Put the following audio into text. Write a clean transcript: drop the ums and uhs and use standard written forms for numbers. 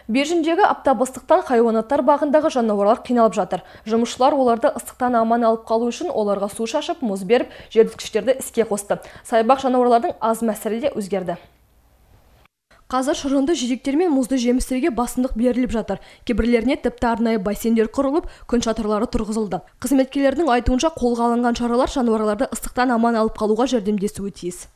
Бержіндегі аптап ыстықтан хайуанаттар бағындағы жануарлар қиналып жатыр. Жұмысшылар оларды ыстықтан аман алып қалу үшін оларға су шашып, мұз беріп, желдеткіштерді іске қосты. Саябақ жануарлардың аз мәселе де өзгерді. Қазір шырынды жидектер мен мұзды жемістерге басымдық беріліп жатыр. Кейбірлеріне тіпті арнайы бассейндер құрылып, күн шатырлары тұрғызылды. Қызметкерлердің айтуынша қолға алынған шаралар жануарларды ыстықтан аман алып қалуға жәрдемдесуі тиіс.